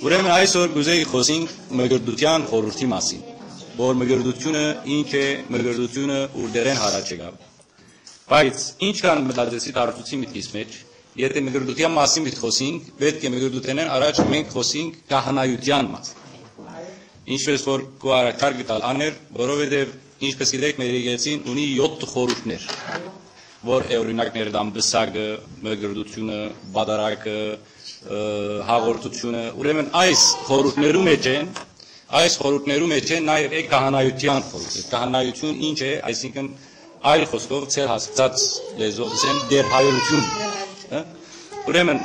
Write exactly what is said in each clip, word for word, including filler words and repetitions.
Ուրեմն այսօր կուզեի խօսենք մկրտութեան խորհուրդի մասին, որ մկրտութիւնը ինչ է, մկրտութիւնը ուրդերէն յառաջ եկաւ։ Բայց ինչքան մտածեցի, դարձուցի մտքիս մեջ, եթե մկրտութեան մասին պիտի խօսենք, պէտք է մկրտութենէն առաջ մենք խօսենք քահանայութեան մասին։ Ինչպես որ քու առաջարկ տալ աներ, որովհետեւ, ինչպես գիտեք, մեր եկեղեցին ունի յոթ խորհուրդներ, որ է օրինակներ դան պսակը, մկրտութիւնը, պատարագը, ը, հաղորդութիւնը։ Ուրեմն այս խորհուրդներու մեջ են, այս խորհուրդներու մեջ են նաեւ է քահանայութեան խորհուրդը։ Քահանայութիւն ինչ է, այսինքն այլ խօսքով, ձեր հասկցած լեզուով ասեմ, դերհայրութիւն, հա։ Ուրեմն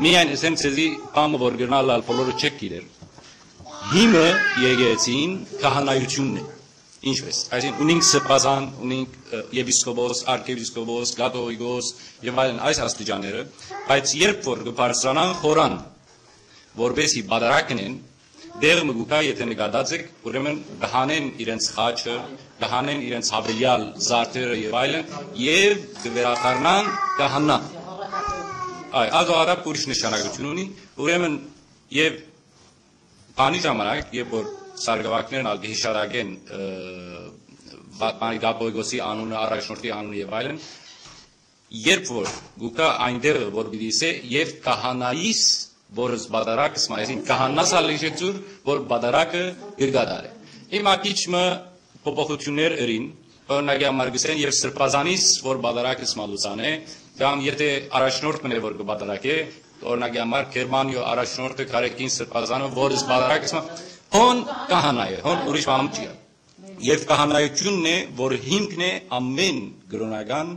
միայն ասեմ ձեզի բանը, որ կրնալ ալ բոլորը չեք գիտեր։ Հիմը եկեղեցին քահանայութիւնն է։ Ինչպես։ Այսինքն ունենք սրբազան, ունենք, ը, եպիսկոպոս, արքեպիսկոպոս, կաթողիկոս եւ այլն այս աստիճանները, բայց երբ որ կբարձրանան խորան, որպեսի պատարագ ընեն, դեղ մը կուքա, եթե նկատած եք, ուրեմն կհանեն իրենց խաչը, կհանեն իրենց հավելեալ զարդերը եւ այլն, եւ կվերադառնան քահանան։ Այ, ագահարապ ուրիշ նշանակություն ունի, ուրեմն եւ քանի ժամանակ, երբ որ սարկավագներն ալ կհիշատակեն, ը, վա-, բանի կաթողիկոսի անունը, առաջնորդի անունը եւ այլն, երբ որ գուկա այնտեղը, որ պիտի սե, «Եւ քահանայիս, որ զբադարակս մայզին», քահանաս ալ իշեցուր, որ բադարակը կրկադար է։ Հիմա քիչ մը փոփոխություններ ըրին, օրինակի համար կսեն, «Եւ սրբազանիս, որ բադարակս մալուսան է», կամ եթե առաջնորդ մնե, որ կբադարակե, օրինակի համար Գերմանիո առաջնորդը կարեկին սրբազանը, որ զբադարակս մա-, հոն քահանայ է, հոն ուրիշ բան չի։ Եւ քահանայությունն է, որ հիմքն է ամեն կրօնական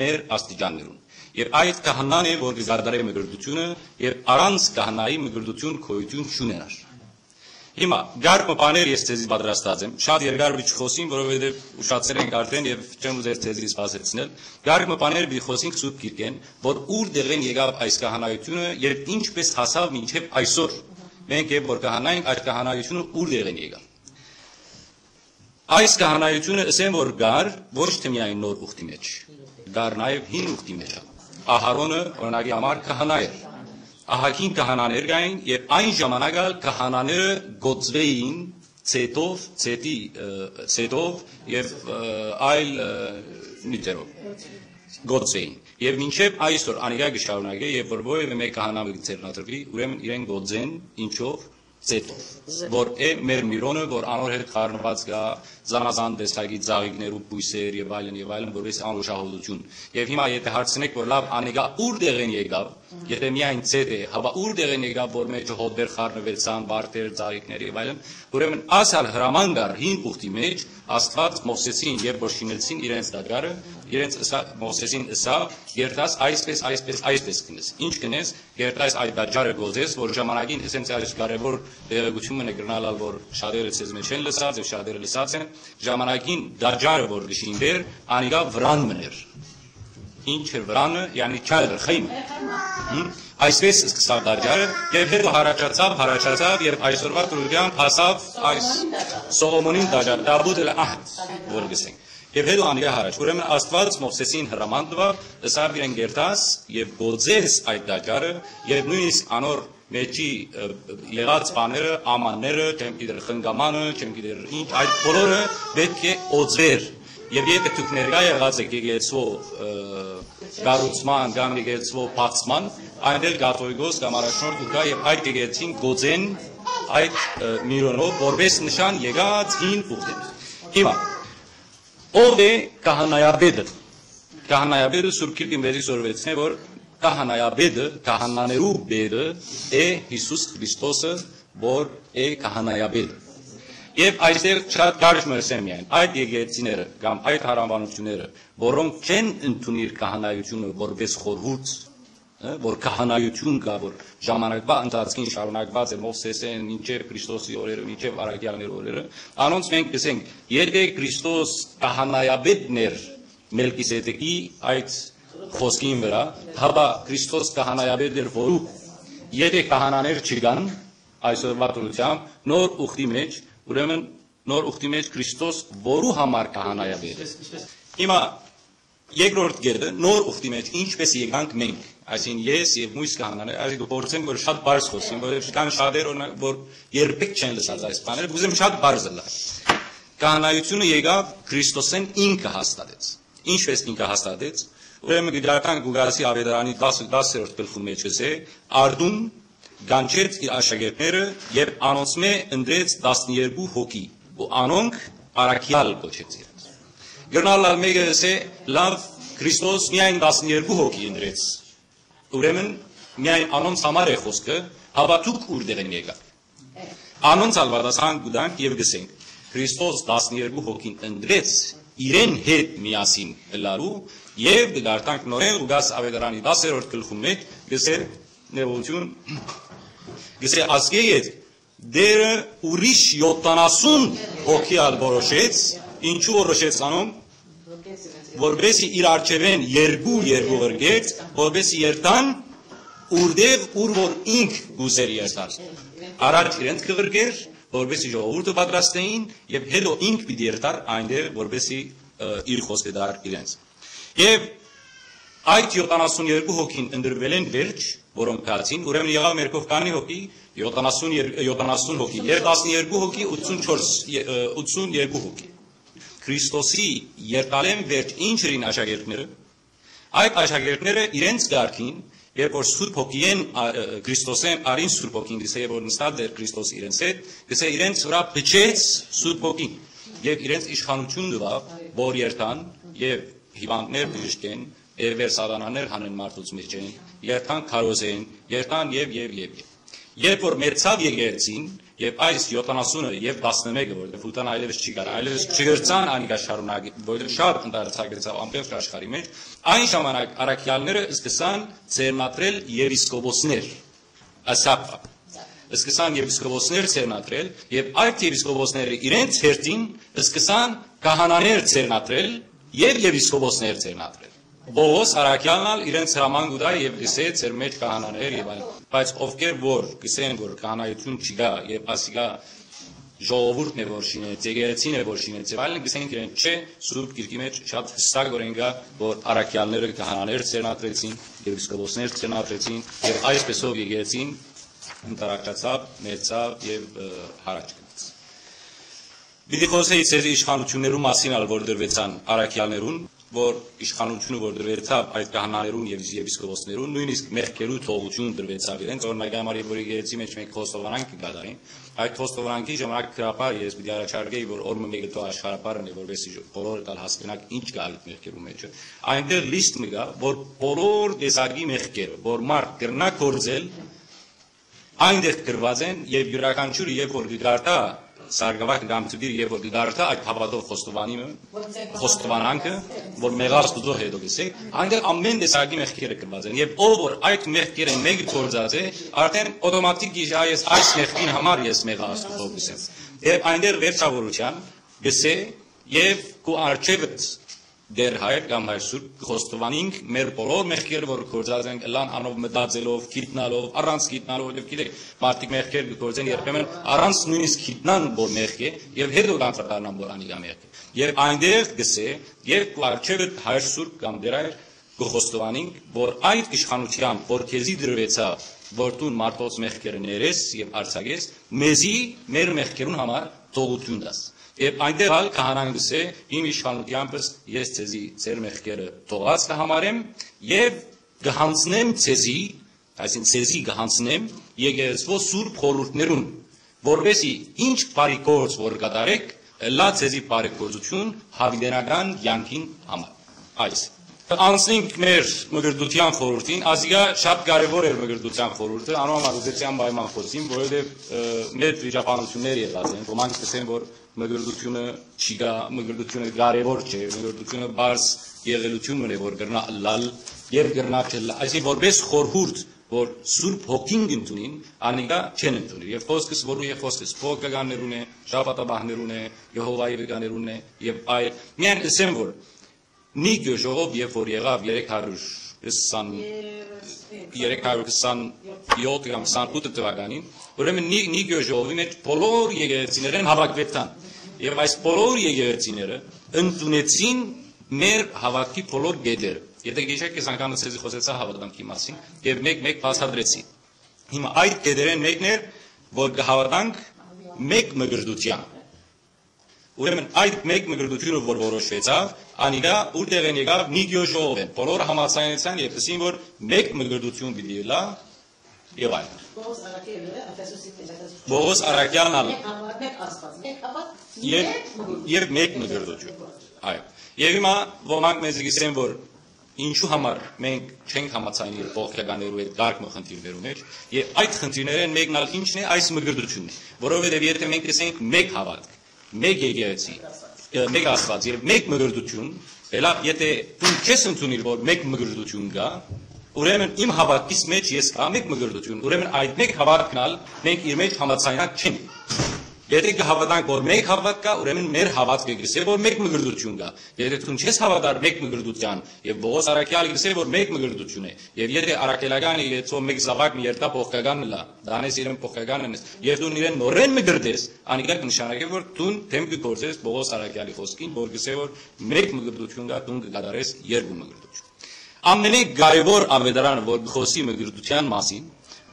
մեր աստիճաններուն։ Եւ այդ քահանան է, որ կկատարե մկրտությունը, եւ առանց քահանայի մկրտություն գոյություն չունենար։ Հիմա կարգ մը բաներ ես ձեզի պատրաստած եմ, շատ երկար պիտի չխոսեմ, որովհետեւ ուշացել ենք արդեն եւ չեմ ուզեր ձեզի սպասեցնել։ Կարգ մը բաներ պիտի խոսենք Սուրբ Գիրքէն, որ ուր դեղեն եկաւ այս քահանայությունը եւ ինչպես հասաւ մինչեւ այսօր։ Մենք երբ որ քահանայենք, այդ քահանայությունը ուր դեղեն եկաւ։ Այս քահանայությունը, ըսեմ որ կար ոչ թե միայն նոր ուխտի մեջ, կար նաեւ հին ուխտի մեջ։ Ահարոնը, օրինակի համար, քահանայ էր։ Ահագին քահանաներ կային, եւ այն ժամանակ ալ քահանաները գոծվեին ցետով, ցետի, ը, ցետով եւ, ը, այլ, ը, նիւթերով գոծվեին։ Եւ մինչեւ այսօր անիկա կը շարունակէ, եւ որ որեւէ մէկ քահանա մը կը ձեռնադրուի, ուրեմն իրեն գոծեն ինչով, ցետով, որ է մեր Միրոնը, որ անոր հետ խառնուած կա զանազան տեսակի ծաղիկներու բոյսեր եւ այլն եւ այլն, որպես անուշահոտություն։ Եւ հիմա եթե հարցնեք, որ լավ, անիկա ուր դեղեն եկաւ, եթե միայն ցետ է, հապա ուր դեղեն եկաւ, որ մեջը հոտեր խառնուեցան, վարդեր, ծաղիկներ եւ այլն, ուրեմն ասալ հրաման կար հին ուխտի մեջ, Աստուած Մովսեսին, երբ որ շինեցին իրենց տաճարը, իրենց ըսա-, Մովսեսին ըսա, «Երթաս այսպես, այսպես, այսպես կնես»։ Ինչ կնես, երթաս այդ տաճարը գոզես, որ ժամանակին, ասենց, այս կարևոր տեղեկություն մնա կրնալ ալ, որ շատերը ձեզ մեջ են լսած եւ շատերը լսած են, ժամանակին տաճարը, որ կշինվեր, անիկա վրան մներ։ Ինչ էր վրանը, յանի չայլը, խին։ Հմ? Այսպես սկսավ տաճարը, եւ հետո հառաչացավ, հառաչացավ, եւ այսօրվա դրությամբ հասավ այս Սողոմոնին տաճար, Տաբուտ էլ Ահդ, որ գսենք։ Եւ հետո անիկա հառաչ։ Ուրեմն Աստուած Մովսեսին հրաման տուաւ, ըսաւ իրեն, «Գերտաս եւ գոձես այդ տաճարը», եւ նոյնիսկ անոր մեջի, ը, եղած բաները, ամանները, չեմ գիտեր խնկամանը, չեմ գիտեր ինչ, այդ բոլորը պէտք է օծվեր։ Եւ եթե դուք ներկայ եղած եք եկեղեցու, ը, կառուցման կամ եկեղեցու բացման, այնտեղ կաթողիկոս կամ առաջնորդ կու գայ եւ այդ եկեղեցին գոծեն այդ, ը, Միրոնով, որպես նշան եկած հին ուխտին։ Հիմա, ո՞վ է քահանայապետը։ Քահանայապետը Սուրբ Գիրքը մեզի սորվեցնէ, որ քահանայապետը, քահանաներու պետը է Յիսուս Քրիստոսը, որ է քահանայապետը։ Եւ այստեղ շատ կարճ մը ըսեմ միայն, այդ եկեղեցիները կամ այդ հարանվանությունները, որոնք չեն ընդունիր քահանայությունը որպես խորհուրդ, ը, որ քահանայություն կա, որ ժամանակվա ընթացքին շարունակված է Մովսեսէն, մինչեւ Քրիստոսի օրերը, մինչեւ առաքյալների օրերը, անոնց մենք կսենք, եթե Քրիստոս քահանայապետն էր Մելքիսեդեկի այդ խոսքին վրայ, հապա Քրիստոս քահանայապետ էր որու, եթե քահանաներ չկան այսօրվա դրությամբ, նոր ուխտի մեջ, ուրեմն նոր ուխտի մեջ Քրիստոս որու համար քահանայապետ է։ Հիմա Երկրորդ կետը, նոր ուխտի մէջ, ինչպես եկանք մենք, այսինքն ես եւ մոյս քահանաները, այսինքն կը փորձեմ, որ շատ բարձ խոսեմ, որովհետեւ կան շատեր, օրինակ, որ երբեք չեն լսած այս բաները, կ'ուզեմ շատ բարձ ըլլալ։ Քահանայությունը եկաւ, Քրիստոսեն ինքը հաստատեց։ Ինչպես ինքը հաստատեց, ուրեմն կը կարդանք Ղուկասի Աւետարանի տասը, տասերորդ գլխուն մէջ, կ'ըսէ. «Արդուն կանչեց իր աշակերտները եւ անոնցմէ ընտրեց տասներկու հոգի, ու անոնք առաքեալ կոչեց իրենց»։ Կրնալ ալ մէկը ըսէ. «Լաւ, Քրիստոս միայն տասներկու հոգի ընտրեց, ուրեմն միայն անոնց համար է խօսքը, հապա դուք ուրտեղ են եկաք»։ Անոնց ալ պատասխան կու տանք եւ կ'ըսենք. Քրիստոս տասներկու հոգին ընտրեց իրեն հետ միասին ըլլալու, եւ կը կարդանք նորէն Ղուկաս Աւետարանի տասերորդ գլխուն մէջ, կ'ըսէ, ներողություն, կ'ըսէ. «Ասկէ ետք Տէրը ուրիշ յոթանասուն հոգի ալ որոշեց»։ Ինչու որոշեց անոնք? «Որպեսզի իր առջեւէն երկու, երկու ղրկեց, որպեսզի երթան ուրտեղ, ուր որ ինք կ'ուզէր երթալ»։ Առաջ իրենց կը ղրկէր, որպեսզի ժողովուրդը պատրաստէին, եւ հետո ինք պիտի երթար այնտեղ, որպեսզի, ը, իր խօսքը տար իրենց։ Եւ այդ յոթանասուն երկու հոգին ընտրուելէն վերջ, որոնք գացին, ուրեմն եղաւ մեր քով քանի՞ հոգի, յոթանասուն, յոթանասուն հոգի, եւ տասներկու հոգի, ութսուն չորս, ը, ութսուն երկու հոգի։ Քրիստոսի երթալէն վերջ ինչ ըրին աշակերտները։ Այդ աշակերտները իրենց կարգին, երբ որ Սուրբ Հոգիէն, ա, ը, Քրիստոսէն արին Սուրբ Հոգին, կ'ըսէ, որ նստած էր Քրիստոս իրենց հետ, կ'ըսէ, իրենց վրայ փչեց Սուրբ Հոգին, եւ իրենց իշխանութիւն տուաւ, որ երթան եւ հիւանդներ բժշկեն, եւ վեր սատանաներ հանեն մարդոց մէջէն, երթան քարոզեն, երթան եւ, եւ, եւ, եւ։ Երբ որ մեծաւ եկեղեցին, եւ այս յոթանասունը եւ տասնմէկը, որտեղ Յոդան այլեւս չի գար, այլեւս չկրցան անիկա շարունակել, որտեղ շատ ընդարձակեցաւ ամբողջ աշխարհի մէջ, այն ժամանակ առաքեալները սկսան ձեռնադրել եպիսկոպոսներ, ասապ, սկսան եպիսկոպոսներ ձեռնադրել, եւ այդ եպիսկոպոսները իրենց հերթին սկսան քահանաներ ձեռնադրել եւ եպիսկոպոսներ ձեռնադրել։ Պողոս առաքեալն ալ իրենց հրաման կու տայ եւ կ'ըսէ. «Ձեր մէջ քահանաներ եւ այլն»։ Բայց ովքեր որ կ'ըսեն, որ քահանայութիւն չկայ եւ ասիկա ժողովուրդն է, որ շինեց, եկեղեցին է, որ շինեց եւ այլն, կ'ըսենք իրենք. «Չէ, Սուրբ Գիրքի մէջ շատ յստակ օրէն կայ, որ առաքեալները քահանաներ ձեռնադրեցին, եպիսկոպոսներ ձեռնադրեցին, եւ այսպեսով եկեղեցին ընդառաջացաւ, մեծաւ եւ, ը, յառաջ գնաց»։ Պիտի խօսէի ձեզի իշխանութիւններու մասին ալ, որ տրուեցան առաքեալներուն, որ իշխանութիւնը, որ տրուեցաւ այդ քահանաներուն եւ եպիսկոպոսներուն, նոյնիսկ մեղքերու թողութիւն տրուեցաւ իրենց, օրինակ համար, երբ որ եկեղեցի մէջ մենք խոստովանանք կը կատարենք, այդ խոստովանանքի ժամանակ գրաբար ես պիտի առաջարկեի, որ օրը մէկը թող աշխարհաբար ընէ, որպեսզի բոլորը տալ հասկնաք ինչ կայ այդ մեղքերու մէջը։ Այնտեղ լիստ մը կայ, որ բոլոր տեսակի մեղքերը, որ մարդ կրնայ գործել, այնտեղ գրուած են, եւ իւրաքանչիւրը, երբ որ կը կարդայ սարգսակը կամ դպիրը, երբ որ կը կարդայ այդ հաւատով խոստովանիմը, խոստովանանքը, որ մեղա Աստուծոյ, հետո կ'ըսէ, այնտեղ ամէն տեսակի մեղքերը գրուած են, եւ ով որ այդ մեղքերէն մէկը գործած է, արդեն օտոմատիկ գիժայ ես այս մեղքին համար ես մեղա Աստուծոյ, կ'ըսեմ։ Եւ այնտեղ վերջավորութեան կ'ըսէ. «Եւ քու առջեւդ, Տէր Հայր կամ Հայր Սուրբ, կը խոստովանենք մեր բոլոր մեղքերը, որ գործած ենք, ըլլան անով մտածելով, գիտնալով, առանց գիտնալով, եւ գիտեք, մարդիկ մեղքեր կը գործեն երբեմն առանց նոյնիսկ գիտնան, որ մեղք է, եւ հետո կանդրադառնան, որ անիկա մեղք է»։ Եւ այնտեղ կ'ըսէ. «Եւ քու առջեւդ, Հայր Սուրբ կամ Տէր Հայր, կը խոստովանենք, որ այդ իշխանութեամբ, որ քեզի տրուեցաւ, որ դուն մարդոց մեղքերը ներես եւ արձակես, մեզի մեր մեղքերուն համար թողութիւն տաս»։ Եւ այնտեղ ալ քահանան կ'ըսէ. «Իմ իշխանութեամբս ես ձեզի ձեր մեղքերը թողած կը համարեմ եւ կը յանձնեմ ձեզի», այսինքն՝ «ձեզի կը յանձնեմ եկեղեցւոյ սուրբ խորհուրդներուն, որպեսզի ինչ բարի գործ որ կատարէք, ըլլայ ձեզի բարեգործութիւն յաւիտենական կեանքին համար»։ Այս։ Անցնենք մեր մկրտութեան խորհուրդին, ասիկա շատ կարեւոր էր մկրտութեան խորհուրդը, անոր համար ուզեցի անպայման խօսիմ, որովհետեւ, ը, մեծ վիճաբանութիւններ եղած են, ոմանք կ'ըսեն, որ մկրտութիւնը չի գա, մկրտութիւնը կարեւոր չէ, մկրտութիւնը պարզ եղելութիւն մըն է, որ կրնայ ըլլալ եւ կրնայ չըլլալ, այսինքն որպես խորհուրդ, որ Սուրբ Հոգին կ'ընդունին, անիկա չեն ընդունիր։ Եւ խօսքս, որու է խօսքս, փոքրականներուն է, շաբաթաբահներուն է, Եհովայի վկաներուն է եւ այլ։ Միայն ըսեմ, որ Նիկիո ժողով, երբ որ եղաւ երեք հարյուր քսան, երեք հարյուր քսան յոթ կամ քսանութ թվականին, ուրեմն Նի-, Նիկիո ժողովի մէջ բոլոր եկեղեցիներէն հաւաքուեցան։ Եւ այս բոլոր եկեղեցիները ընդունեցին մեր հաւատքի բոլոր կետերը։ Եթե գիշեր կես անգամ սեզի խոսեցայ հաւատանքի մասին, եւ մեկ-մեկ բացատրեցի։ Հիմա այդ կետերէն մեկն էր, որ կը հաւատանք մեկ մկրտութեան։ Ուրեմն այդ մեկ մկրտութիւնը, որ որոշուեցաւ, անիկա ուրտեղէն եկաւ, Նիկիոս ժողովէն։ Բոլորը համաձայնեցան եւ ըսին, որ մեկ մկրտութիւն պիտի ըլլայ, եւ այլն։ Պողոս Առաքելը, Էֆեսոսի փետրատես Պողոս Առաքեալն ալ։ Մեկ հաւատ, մեկ Աստուած, մեկ հաւատ, եւ, մեկ մկրտութիւն։ Եւ մեկ մկրտութիւն։ Այո։ Եւ հիմա ոմանք մեզի կ'ըսեն, որ ինչու համար մենք չենք համաձայնիր փոխքականներու հետ կարգ մը խնդիրներու մեջ, եւ այդ խնդիրներէն մեկն ալ ինչն է, այս մկրտութիւնն է, որովհետեւ եթե մենք կ'ըսենք մեկ հաւատք, մեկ եկեղեցի, ը, մեկ Աստուած եւ մեկ մկրտութիւն, ելա, եթե դու քեզ ընդունիր, որ մեկ մկրտութիւն կայ, ուրեմն իմ հաւատքիս մեջ ես կայ մեկ մկրտութիւն, ուրեմն այդ մեկ հաւատքն ալ մենք իր մեջ համաձայնակ չենք։ Եթե կը հաւատանք, որ մեկ հաւատք կայ, ուրեմն մեր հաւատքը կ'ըսէ, որ մեկ մկրտութիւն կայ։ Եթե դու չես հաւատար մեկ մկրտութեան, եւ Պողոս Առաքեալ կ'ըսէ, որ մեկ մկրտութիւն է, եւ եթե առաքելական է, եթե մեկ զաւակ մը երթայ փոխքական ըլլայ, դանես իրեն փոխքական ընես, եւ դու իրեն նորէն մկրտես, անիկա կը նշանակէ, որ դուն դէմ կը գործես Պողոս Առաքեալի խօսքին, որ կ'ըսէ, որ մեկ մկրտութիւն կայ, դուն կը կատարես երկու մկրտութիւն։ Ամենէ կարեւոր աւետարանը, որ կը խօսի մկրտութեան մասին,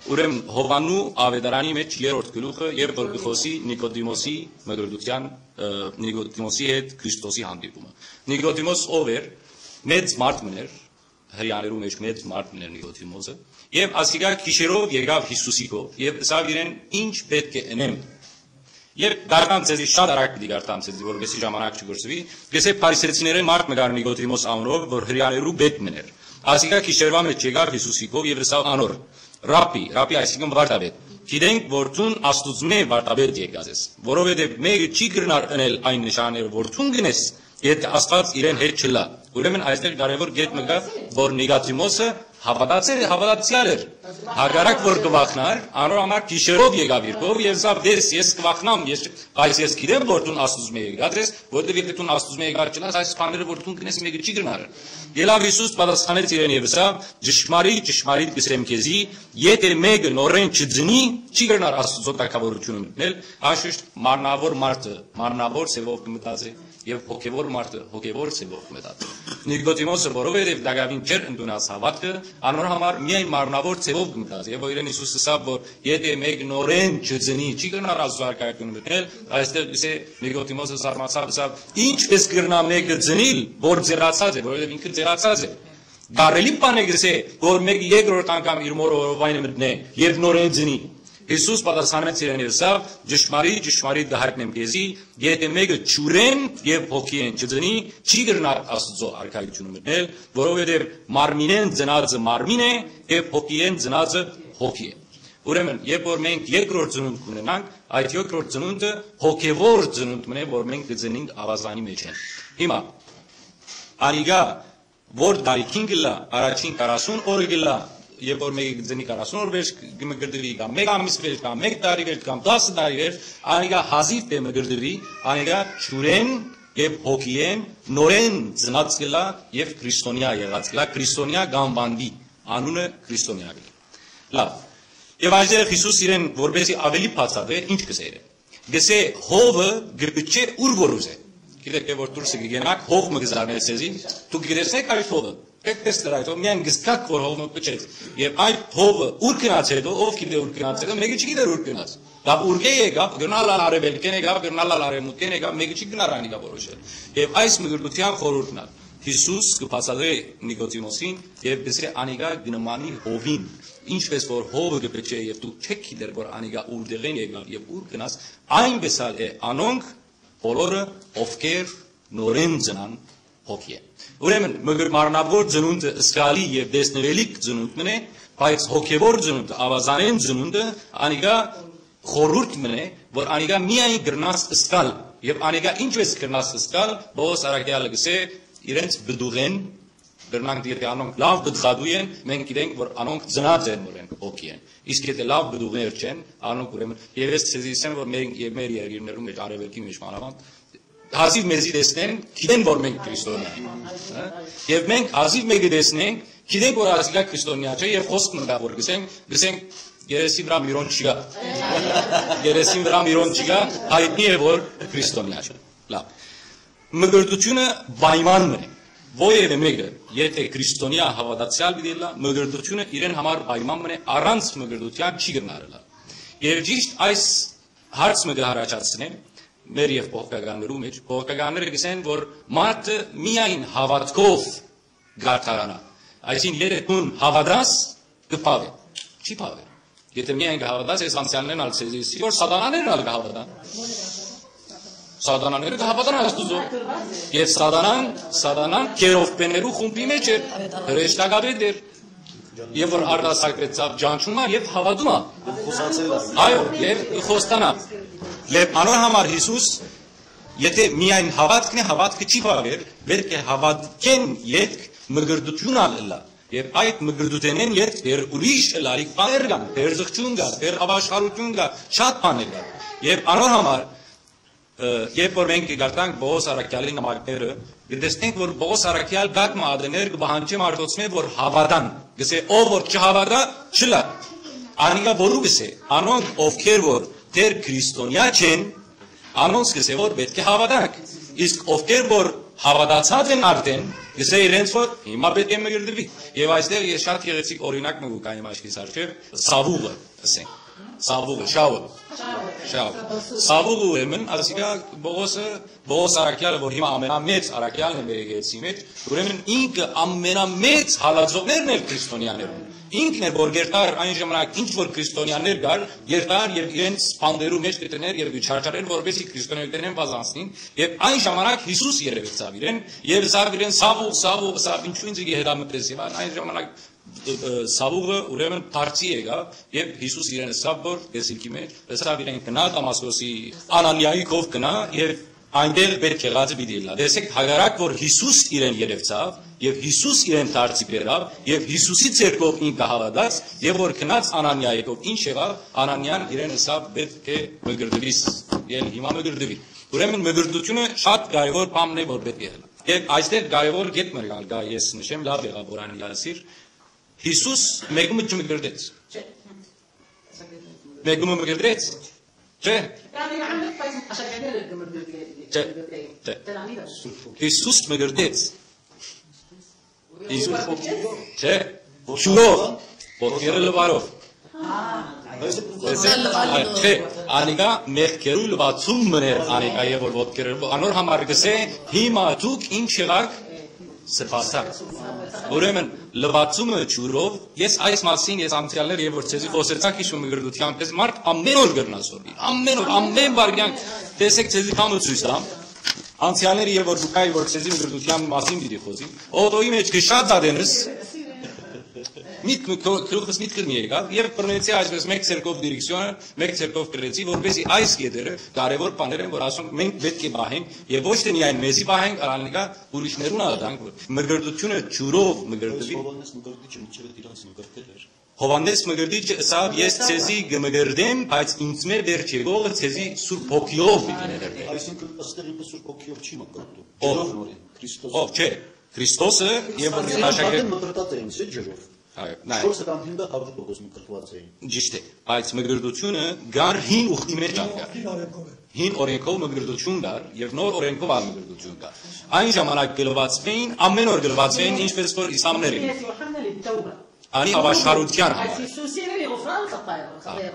ուրեմն Յովհաննու աւետարանի մեջ երրորդ գլուխը, երբ որ կը խօսի Նիկոդիմոսի մկրտութեան, ը, Նիկոդիմոսի հետ Քրիստոսի հանդիպումը։ Նիկոդիմոս ով էր, մեծ մարդ մըն էր, հրեաներու մեջ մեծ մարդ մըն էր Նիկոդիմոսը, եւ ասիկա գիշերով եկաւ Յիսուսի քով եւ ըսաւ իրեն. «Ինչ պէտք է ընեմ»։ Երբ դառնամ ձեզի շատ արագ պիտի կարդամ ձեզի, որպեսզի ժամանակ չկորսուի, կ'ըսէ, փարիսեցիներէն մարդ մը կար Նիկոդիմոս անունով, որ հրեաներու պետ մըն էր։ Ասիկա գիշերուայ մէջ եկաւ Յիսուսի քով եւ ըսաւ անոր. «Ռաբբի», Ռաբբի այսինքն վարդապետ, «գիտենք, որ դուն Աստուծմէ վարդապետ եկած ես, որովհետեւ մէկը չի կրնար ընել այն նշանները, որ դուն կ'ընես, եթէ Աստուած իրեն հետ չըլլայ»։ Ուրեմն այստեղ կարեւոր կետ մը կայ, որ Նիկոդիմոսը հաւատացել է, հաւատացեալ էր։ Հակառակ որ կը վախնար, անոր համար գիշերով եկաւ իր քով եւ ըսաւ. «Տես, ես կը վախնամ, ես, բայց ես գիտեմ, որ դուն Աստուծմէ եկած ես, որովհետեւ եթէ դուն Աստուծմէ եկած չըլլաս, այս բաները, որ դուն կ'ընես, մէկը չի կրնար»։ Ելաւ Յիսուս պատասխանեց իրեն եւ ըսաւ. «Ճշմարիտ, ճշմարիտ կ'ըսեմ քեզի, եթէ մէկը նորէն չծնի, չի կրնար Աստուծոյ թագաւորութիւնը մտնել»։ Անշուշտ մարմնաւոր մարդը մարմնաւոր ձեւով կը մտածէ, եւ հոգեւոր մարդը հոգեւոր ձեւով կը մտածէ։ Նիկոդիմոսը, որովհետեւ տակաւին չէր ընդունած հաւատքը, անոր համար միայն մարմնաւոր ձեւով կը մտածէ, եւ որ իրեն Յիսուս ըսաւ, որ եթէ մէկ նորէն չծնի, չի կրնար Աստուծոյ արքայութիւնը մտնել, այստեղ ըսէ, Նիկոդիմոսը զարմացաւ, ըսաւ. «Ինչպէս կրնայ մէկը ծնիլ, որ ձեռացած է, որովհետեւ ինքը ձեռացած է»։ Կարելի բան է գսե, որ մէկ երկրորդ անգամ իր մորը որովայնը մտնէ եւ նորէն ծնի։ Յիսուս պատասխանեց իրեն եւ ըսաւ. «Ճշմարիտ, ճշմարիտ կը յայտնեմ քեզի, եթէ մէկը ջուրէն եւ հոգիէն չծնի, չի կրնար Աստուծոյ արքայութիւնը մտնել, որովհետեւ մարմինէն ծնածը մարմին է եւ հոգիէն ծնածը հոգի է»։ Ուրեմն, երբ որ մենք երկրորդ ծնունդ կունենանք, այդ երկրորդ ծնունդը հոգեվոր ծնունդ մնե, որ մենք կծնենք Աւազանի մեջ են։ Հիմա, անիկա որ տարիքին կ'ըլլայ, առաջին քառասուն օրը կ'ըլլայ, երբ որ մէկը կ'ընի քառասուն օր վերջ կը մկրտուի, կամ մէկ ամիս վերջ, կամ մէկ տարի վերջ, կամ տասը տարի վերջ, անիկա հազիւ թէ մկրտուի, անիկա ջուրէն եւ հոգիէն նորէն ծնած կ'ըլլայ եւ քրիստոնեայ եղած կ'ըլլայ, քրիստոնեայ կ'անուանուի, անունը քրիստոնեայ կ'ըլլայ։ Լաւ։ Եւ այստեղ Յիսուս իրեն որպեսզի աւելի բացատրէ, ինչ կ'ըսէ իրեն։ Կ'ըսէ, հովը կը փչէ ուր որ ուզէ։ Գիտէք թէ որ դուրսը կ'երթանաք, հով մը կը զարնէ ձեզի, դուք կտեսնէք այդ հովը։ Եք տեսներ այդ հովը, միայն կ'զգաք որ հով մը փչեց։ Եւ այդ հովը ուր գնաց հետո, ով գիտէ ուր գնաց հետո, մէկը չգիտէր ուր գնաց։ Լաւ, ուրկէ եկաւ, կրնար ալ արեւելքէն եկաւ, կրնար ալ արեւմուտքէն եկաւ, մէկը չի կրնար անիկա որոշել։ Եւ այս մկրտութեան խորհուրդն ալ Յիսուս կը բացատրէ Նիկոդիմոսին եւ կ'ըսէ, անիկա կը նմանի հովին, ինչպէս որ հովը կը փչէ եւ դուք չէք գիտեր որ անիկա ուրտեղէն եկաւ եւ ուր գնաց, այնպէս ալ է անոնք բոլորը, ովքեր նորէն ծնան հոգիէ։ Ուրեմն, մկր-, մարմնաւոր ծնունդը զգալի եւ տեսնելիք ծնունդ մըն է, բայց հոգեվոր ծնունդը, աւազանէն ծնունդը, անիկա խորհուրդ մըն է, որ անիկա միայն կրնաս զգալ, եւ անիկա ինչպէս կրնաս զգալ, Պողոս առաքեալը կ'ըսէ, իրենց պտուղէն, կրնանք դիտել, անոնք լաւ պտղատու են, մենք գիտենք, որ անոնք ծնած են նորէն հոգի են։ Իսկ եթե լաւ պտուղներ չեն, անոնք ուրեմն, եւ ես ձեզի ասեմ, որ մեր, եւ մեր երկիրներու մեջ, արեւելքի մեջ մանավանդ, հազիւ մեզի տեսնեն, գիտեն, որ մենք քրիստոնեայ ենք, հա? Եւ մենք հազիվ մեկը տեսնենք, գիտենք, որ ասիկա քրիստոնեայ չէ, եւ խոսք մտա, որ գսենք, գսենք, երեսի վրայ միրոն չկայ։ Երեսին վրայ միրոն չկայ, յայտնի է, որ քրիստոնեայ չէ։ Լաւ։ Մկրտութիւնը պայման մը է։ Որեւէ մէկը, եթէ քրիստոնեայ հաւատացեալ պիտի ըլլայ, մկրտութիւնը իրեն համար պայման մըն է, առանց մկրտութեան չի կրնար ըլլալ։ Եւ ճիշդ այս հարց մը կ'առաջացնեմ մեր եւ փոխկականներու մէջ։ Փոխկականները կ'ըսեն, որ մարդը միայն հաւատքով կ'արդարանայ։ Այսինքն, եթէ դուն հաւատաս, կը բաւէ։ Չի բաւեր։ Եթէ միայն կը հաւատաս, ես անցեալներն ալ ձեզի ըսի, որ սատանաներն ալ կը հաւատան։ Սատանաները կը հաւատան Աստուծոյ։ Եւ սատանան, սատանան քերովբեներու խումբի մէջ էր, հրեշտակապետ էր։ Եւ որ արտասակրեցաւ ճանչում ա եւ հաւատում ա։ Այո, եւ խոստանա։ Եւ անոր համար Յիսուս, եթէ միայն հաւատքն է, հաւատքը չի բաւեր, պէտք է հաւատքեն ետք մկրտութիւն ալ ըլլայ։ Եւ այդ մկրտութենէն ետք դեռ ուրիշ ըլալիք բաներ կան, դերձղջուն կա, դեռ աւաշխարութիւն կա, շատ բաներ կան։ Եւ անոր համար, ը, երբ որ մենք կկարդանք Պողոս առաքեալի նամակները, կտեսնենք, որ Պողոս առաքեալ գակ մը ատեներ կը պահանջէ մարդոցմէ, որ հաւատան։ Կ'ըսէ, «Ով որ չհաւատայ, չըլլայ»։ Անիկա որու կ'ըսէ, անոնք, ովքեր որ դեռ քրիստոնեայ չեն, անոնց կ'ըսէ, որ պէտք է հաւատանք։ Իսկ ովքեր որ հաւատացած են արդէն, կ'ըսէ իրենց, որ հիմա պէտք է մկրտուի։ Եւ այստեղ ես շատ գեղեցիկ օրինակ մը կու գայեմ աչքիս առջեւ, Սաւուղը, ասենք։ Սաւուղը, շաուը։ Շաուը։ Սաւուղը ուրեմն, ասիկա Պողոսը, Պողոս առաքեալը, որ հիմա ամենամեծ առաքեալն է մեր եկեղեցի մեջ, ուրեմն ինքը ամենամեծ հալածողներն էր քրիստոնեաներուն։ Ինքն էր, որ գերտար այն ժամանակ ինչ որ քրիստոնեաներ կար, գերտար եւ իրենց բանտերու մեջ կդներ եւ չարչարեր, որպեսզի քրիստոնեայութենէն վազանցնին, եւ այն ժամանակ Յիսուս երեւեցաւ իրեն, եւ ըսաւ իրեն. «Սաւուղ, Սաւուղ», ըսաւ, «ինչու ինձ կը հետամտես»։ Եւ այն, այն ժամանակ, ը, ը, Սաւուղը ուրեմն դարձի եկաւ, եւ Յիսուս իրեն ըսաւ, որ տեսիլքի մեջ, ըսաւ իրեն. «Գնա Դամասկոսի Անանիայի քով գնա եւ այնտեղ պէտք եղածը պիտի ըլլայ»։ Տեսեք, հակառակ որ Յիսուս իրեն երեւցաւ, եւ Յիսուս իրեն դարձի բերաւ, եւ Յիսուսի ձեռքով ինքը հաւատաց, եւ որ գնաց Անանիայի քով, ինչ եղաւ, Անանիան իրեն ըսաւ. «Պէտք է մկրտուիս, եւ հիմա մկրտուի»։ Ուրեմն մկրտութիւնը շատ կարեւոր բան է, որ պէտք է ըլլայ։ Եւ այստեղ կարեւոր կետ մը կա, ես նշեմ, լաւ եղաւ որ Անանիա ըսիր, Յիսուս մեկը մը չմկրտեց։ Մեկը մը մկրտեց։ Չէ։ Չէ։ Յիսուս մկրտեց։ Յիսուս, չէ, ջուրով, ոտքերը լուարով։ Տեսեք, այ, չէ, անիկա մեղքերու լուացում մըն էր անիկա, եւ որ ոտքերը լուարով, անոր համար կ'ըսէ. «Հիմա դուք ինչ եղաք, սրբացաք»։ Ուրեմն, լուացումը ջուրով, ես այս մասին, ես անցեալներ, երբ որ ձեզի խօսեցանք հիշում մկրտութեան, պես մարդ ամեն օր կրնա սորվի, ամեն օր, ամեն վայրկեան, տեսեք, ձեզի բան մը ցոյց տամ, անցեալները, երբ որ դուք այ որ ձեզի մկրտութեան մասին պիտի խօսի, օտոյի մեջ քշած ատենս, միտքը, ք-, գլուխս միտքը մի եկաւ, եւ բռնեցի այսպես մեկ ձեռքով դիրեկցիոնը, մեկ ձեռքով կրեցի, որպեսզի այս կետերը, կարեւոր բաներ են, որ ասոնք մենք պէտք է պահենք, եւ ոչ թե միայն մեզի պահենք, այլ անիկա ուրիշներուն ալ տանք, որ մկրտութիւնը ջուրով մկրտուի։ Հովհաննես մկրտիչը մինչեւ այդ իրանց մկրտել էր։ Հովհաննես մկրտիչը ըսաւ. «Ես ձեզի կը մկրտեմ, բայց ինձմէ վերջ եկողը ձեզի Սուրբ Հոգիով պիտի մկրտէ»։ Այսինքն, ըստեղ ինքը Սուրբ Հոգիով չի մկրտում։ Ով։ Ջերով նորին, Քրիստոս։ Ով, չէ, Քրիստոսը, եւ որ Սուրբ աշակերտ Հոգին մկրտած էին, չէ, ջերով։ Այո, նայ։ Չորսը կամ հինգը հարյուր տոկոս մկրտված էին։ Ճիշդ է, բայց մկրտությունը գար հին ուխտի մեջ ալ գար։ Հին օրենքով մկրտություն կար, եւ նոր օրենքով ալ մկրտություն կար։ Այն ժամանակ գլուացվեին, ամեն օր գլուացվեին, ինչպես որ իսլամները։ Անի աւաշխարութեան համար։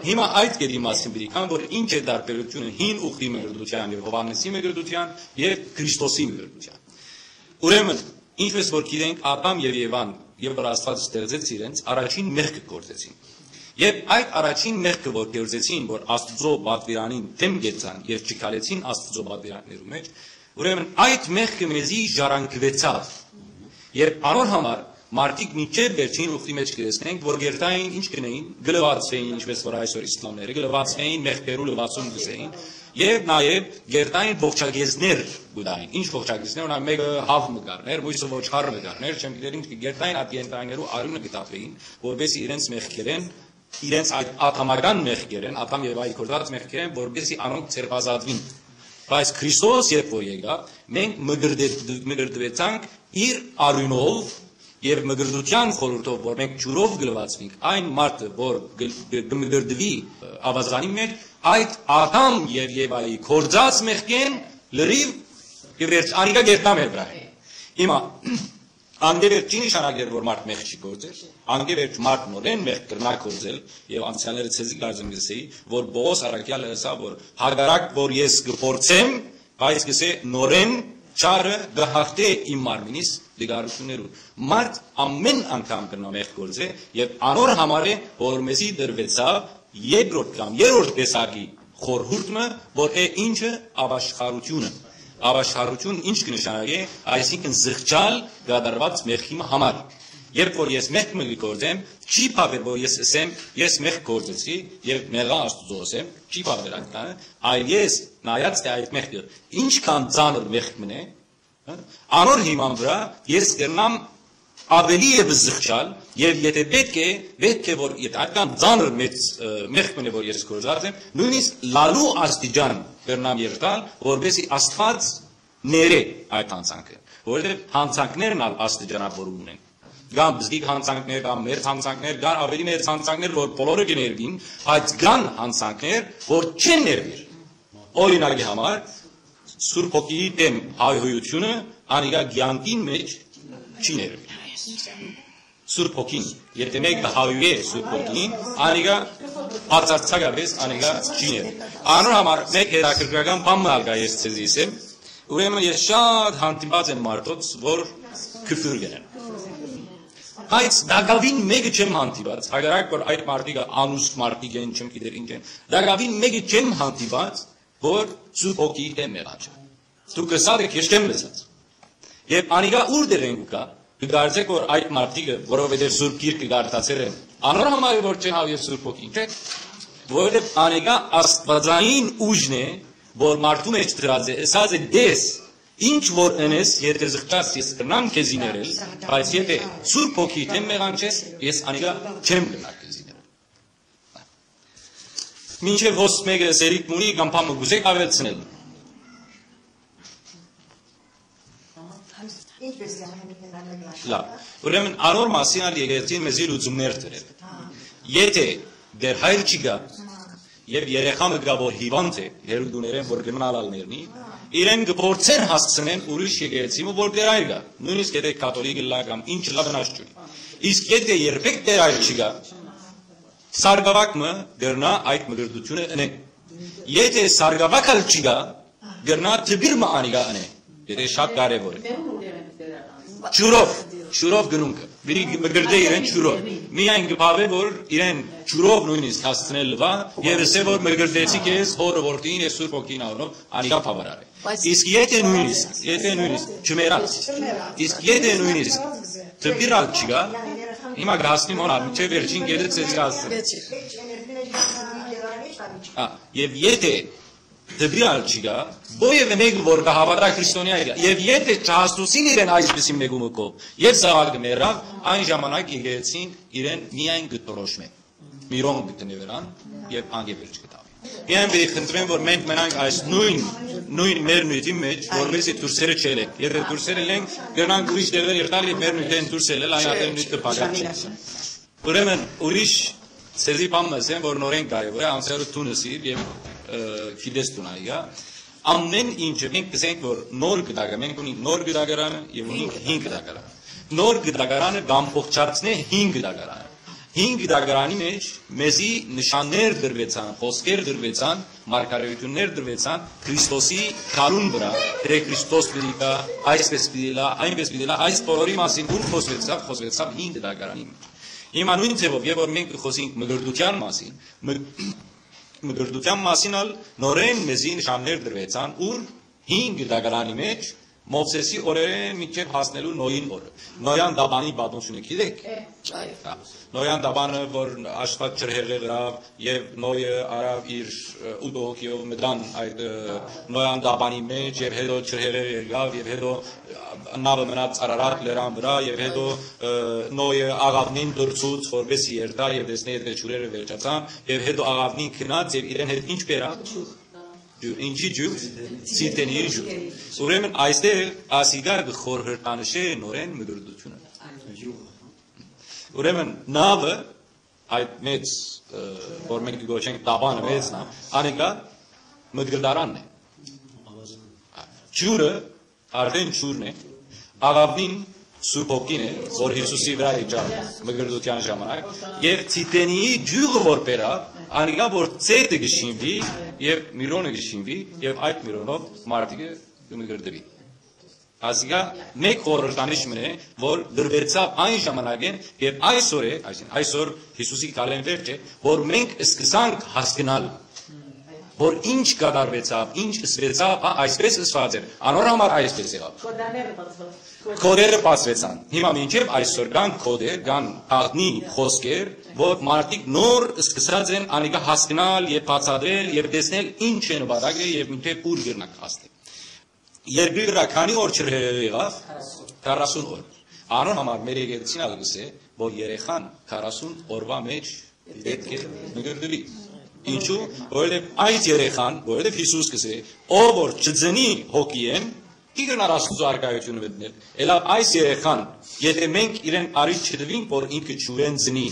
Հիմա այդ կետի մասին պիտի գամ, որ ինչ է տարբերությունը հին ուխտի մկրտութեան եւ Հովհաննեսի մկրտութեան եւ Քրիստոսի մկրտութեան։ Ուրեմն, ինչպես որ գիտենք, Ադամ եւ Եվան, երբ որ Աստված ստեղծեց իրենց, առաջին մեղքը գործեցին։ Եւ այդ առաջին մեղքը որ գործեցին, որ Աստուծոյ պատուիրանին դէմ գեցան եւ չքալեցին Աստուծոյ պատուիրաններու մեջ, ուրեմն այդ մեղքը մեզի ժառանգուեցաւ։ Երբ անոր համար մարդիկ մինչեւ վերջին ուխտի մեջ կտեսնենք, որ գերտային ինչ կնեին, գլուացվեին, ինչպես որ այսօր իսլամները գլուացվեին, մեղքերու լուացում կսեին, եւ նաեւ գերտային ողջագեզներ կուտային։ Ինչ ողջագեզներ, օրինակ, մեկը հաւ մը կառներ, մյուսը ոչխար մը կառներ, չեմ գիտեր ինչ, գերտային այդ գերտայիներու արիւնը կտապեին, որպեսզի իրենց մեղքերեն, իրենց այդ ատամական մեղքերեն, Ադամ եւ Եվայի գործած մեղքերեն, որպեսզի անոնք ձերբազատվին։ Բայց Քրիստոս երբ որ եկաւ, մենք մկրտե-, մկրտուեցանք իր արիւնով եւ մկրտութեան խորհուրդով, որ մենք ջուրով գլուացվենք, այն մարդը, որ գ-, գ-, կմկրտվի, ը, ավազանի մեջ, այդ Ադամ եւ Եվայի գործած մեղքեն լրիվ կվերջ-, անիկա կերտամ է վրայ։ Հիմա, անկէ վերջ չի նշանակեր, որ մարդ մեղք չի գործեր։ Անկէ վերջ մարդ նորէն մեղք կրնայ գործել, եւ անցեալները ցեզի կարծեմ կ'ըսէի, որ Պողոս առաքեալը ըսաւ, որ հակառակ որ ես կփորձեմ, բայց կ'ըսէ նորէն չարը կը հաղթէ իմ մարմինիս տկարութիւններուն։ Մարդ ամէն անգամ կրնայ մեղք գործել, եւ անոր համար է, որ մեզի տրուեցաւ երկրորդ կամ երրորդ տեսակի խորհուրդ մը, որ է ինչը՝ ապաշխարութիւնը։ Ապաշխարութիւն ինչ կը նշանակէ, այսինքն՝ զղջալ կատարուած մեղքի մը համար։ Երբ որ ես մեղք մը կը գործեմ, չի բաւեր, որ ես ըսեմ, ես մեղք գործեցի, եւ մեղա Աստուծոյ ըսեմ, չի բաւեր այդ բանը, այլ ես նայած, թէ այդ մեղքը ինչքան ծանր մեղք մն է, հա, անոր հիման վրայ ես կրնամ ավելի ևս զղջալ, եւ եթե պէտք է, պէտք է, որ եթե այդքան ծանր մեծ, ը, մեղք մն է, որ ես գործած եմ, նոյնիսկ լալու աստիճան կրնամ երթալ, որպեսզի Աստուած ներէ այդ յանցանքը, որովհետեւ յանցանքներն ալ աստիճանաւորում ունեն։ Կան բզկիկ յանցանքներ, կան մերձ յանցանքներ, կան ավելի մերձ յանցանքներ, որ բոլորը կը ներուին, բայց կան յանցանքներ, որ չեն ներուիր։ Օրինակի համար, Սուրբ Հոգիի դէմ հայհոյութիւնը անիկա կեանքին մէջ չի ներուի։ Սուրբ Հոգին, եթե մեկը հայհոյէ Սուրբ Հոգին, անիկա բացարձակապէս անիկա չի ներուի։ Անոր համար մէկ հետաքրքրական բան մը ալ կայ, ես ձեզի ասեմ, ուրեմն ես շատ հանդիպած եմ մարդոց, որ քֆուր կ'ընեն։ Բայց տակաւին մէկը չեմ հանդիպած, հակառակ որ այդ մարդիկը անուշ մարդիկ են, չեմ գիտեր ինչ են, տակաւին մէկը չեմ հանդիպած, որ Սուրբ Հոգիի դէմ մեղանչը։ Դուք ըսած էք, ես չեմ լսած։ Եւ անիկա ուրտեղ են կու գայ, կը կարծէք, որ այդ մարդիկը, որովհետեւ Սուրբ Գիրքը կարդացեր են, անոր համար է, որ չեն հաւեր Սուրբ Հոգին, չէ՞։ Որովհետեւ անիկա աստուածային ուժն է, որ մարդու մէջ դրած է, ըսած է, «Տես, ինչ որ ընես, եթե զղջաս, ես կրնամ քեզի ներել, բայց եթե Սուրբ Հոգիի դէմ մեղանչես, ես անիկա չեմ կրնար քեզի ներել»։ Մինչեւ հոս մէկը սերիկ մունի կամ բան մը կ'ուզէք աւելցնել։ Ինչպէս է հայտնի։ Լավ։ Ուրեմն անոր մասին ալ եկեղեցին մեզի լուծումներ տուեր։ Եթե Տեր Հայր չի գայ, եւ երեխայ մը կայ, որ հիւանդ է, հեռու տուներէն որ կը մնալ ալ ներնի, իրեն կը փորձեն հասցնեն ուրիշ եկեղեցի մը, որ Տեր Հայր գայ, նոյնիսկ եթե կաթողիկ ըլլայ կամ ինչ ըլլայ, վնաս չունի։ Իսկ եթե երբեք Տեր Հայր չի գայ, սարկաւակ մը կրնայ այդ մկրտութիւնը ընել։ Եթե սարկաւակ ալ չի գայ, կրնայ դպիր մը անիկա ընել, եթե շատ կարեւոր է։ Ջուրով, ջուրով գնունքը։ Պիտի մկրտէ իրեն ջուրով։ Միայն կը բաւէ, որ իրեն ջուրով նոյնիսկ հասցնել լվայ, եւ ըսէ, որ մկրտեցի քեզ Հօրը, Որդին եւ Սուրբ Հոգին անունով, անիկա բաւարար է։ Բայց Իսկ եթե նոյնիսկ, եթե նոյնիսկ չմեռած, իսկ եթե նոյնիսկ դպիր ալ չի գայ, հիմա կհասնի մոնալ, մինչեւ վերջին կետը ցեզի կհասնի։ Ա, եւ եթե դպիր ալ չի գայ, որեւէ մեկը որ կը հաւատայ քրիստոնեայ գայ, եւ եթե չհասնուցին իրեն այսպիսի մեկու մը կով, եւ զաւակը մեռաւ, այն ժամանակ եկեղեցին իրեն միայն կը դրոշմէ, միրոն կը դնէ վրան, եւ անկէ վերջ կը տալի։ Միայն պիտի խնդրեմ, որ մենք մնանք այս նոյն, նոյն մեր նիւթին մէջ, որպեսզի դուրսերը չելենք։ Եթե դուրսերը ելենք, կրնանք ուրիշ տեղեր երթալ եւ մեր նիւթէն դուրս ելել, այն ատեն նիւթը բակած չի։ Ուրեմն ուրիշ ցեզի բան մը ասեմ, որ նորեն կարեւոր է, անցյալը դուն ըսիր եւ, ը, գիտես դուն այգա։ Ամեն ինչը մենք կսենք, որ նոր գտակը, մենք ունենք նոր գտակարանը եւ ունենք հին գտակարանը։ Նոր գտակարանը կամբողջացնէ հին գտակարանը։ Հին գտակարանի մէջ մեզի նշաններ դրուեցան, խօսքեր դրուեցան, մարգարեութիւններ դրուեցան Քրիստոսի գալուն վրայ, թէ Քրիստոս պիտի գայ, այսպես պիտի լա, այնպես պիտի լա, այս բոլորի մասին ո՞ւր խօսուեցաւ, խօսուեցաւ հին գտակարանի մէջ։ Հիմա նոյն ձեւով, երբ որ մենք կը խօսենք մկրտութեան մասին, մկ-, մկրտութեան մասին ալ նորէն մեզի նշաններ դրուեցան, ո՞ւր հին գտակարանի մէջ, Մովսէսի օրերէն մինչեւ հասնելու Նոյին օրը։ Նոյան տապանի պատմութիւնը գիտեք։ Այո։ Հա, Նոյան տապանը, որ Աստուած ջրհեղեղ ըրաւ, եւ Նոյը առաւ իր, ը, ութ հոգիով մտան այդ, ը, Նոյան տապանի մէջ, եւ հետո ջրհեղեղ եղաւ, եւ հետո, ը, նաւը մնաց Արարատ լերան վրայ, եւ հետո, ը, Նոյը աղաւնին դրցուց, որպեսզի երթայ եւ տեսնէ, թէ ջուրերը վերջացան, եւ հետո աղաւնին գնաց եւ իրեն հետ ինչ բերաւ։ Ջուր, ինչի ջուր, Սիդենիի ջուր։ Ուրեմն այստեղ ասիկա կը խորհրդանշէ նորէն մկրտութիւնը։ Ուրեմն նաւը, այդ մեծ, ը, որ մենք կը կոչենք տապանը մեծ նա, անիկա մկրտարանն է։ Ջուրը արդեն ջուրն է, Աղաւնին Սուրբ Հոգին է, որ Յիսուսի վրայ իջաւ մկրտութեան ժամանակ, եւ Տիտենիի ջիւղը որ բերաւ, անիկա որ ծեթը կը շինուի, եւ միրոնը կը շինուի, եւ այդ միրոնով մարդիկը կը մկրտուի։ Ասիկա մէկ խորհրդանիշ մըն է, որ դրուեցաւ այն ժամանակէն, եւ այսօր է, այսինքն այսօր Յիսուսի գալէն վերջ է, որ մենք սկսանք հասկնալ, որ ինչ կատարուեցաւ, ինչ ըսուեցաւ, հա, այսպես ըսուած էր, անոր համար այսպես եղաւ։ Կոդաները բացուեցան։ Կոդերը բացուեցան։ Հիմա մինչեւ այսօր կան կոդեր, կան աղնի խօսքեր, որ մարդիկ նոր սկսած են անիկա հասկնալ եւ բացատրել եւ տեսնել ինչ է նպատակը եւ մինչեւ ուր կրնանք հասնել։ Երկրի վրայ քանի՞ օր չրհեղեղի եղաւ։ Քառասուն օր։ Անոր համար մեր եկեղեցին ալ կ'ըսէ, որ երեխան քառասուն օրուայ մէջ պէտք է մկրտուի։ Ինչու՞, որովհետեւ այդ երեխան, որովհետեւ Յիսուս կ'ըսէ, ով որ չծնի հոգիէն, չի կրնար Աստուծոյ առկայութիւնը մտնել։ Ելաւ այս երեխան, եթէ մենք իրեն առիթ չտուինք, որ ինքը ջուրէն ծնի,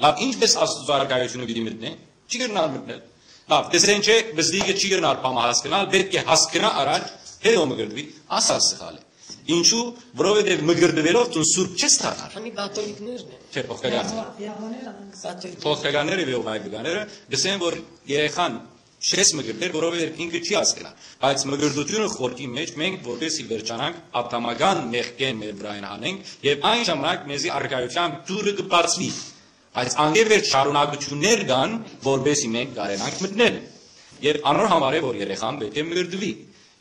լաւ, ինչպէս Աստուծոյ առկայութիւնը պիտի մտնէ, չի կրնար մտնել։ Լաւ, տեսեն չէ, բզդիկը չի կրնար բանը հասկնալ, պէտք է հասկնայ առաջ, հետո մկրտուի, ասա սխալ է։ Ինչու՞, որովհետեւ մկրտուելով դուն սուրբ չես դառնար։ Անի կաթոլիկներն են։ Չէ, փոխկական։ Կաթոլիկ։ Փոխկականները եւ այգականները կ'ըսեն, որ երեխան չես մկրտել, որովհետեւ ինքը չի հասկնա։ Բայց մկրտությունը խորքի մեջ մենք որպեսի վերջանանք ատամական մեղքէն մեր վրայ հանենք եւ այն ժամանակ մեզի առկայութեան դուռը կը բացուի։ Բայց անկէ վեր շարունակութիւններ կան, որպեսի մենք կարենանք մտնել։ Եւ անոր համար է, որ երեխան պէտք է մկրտուի։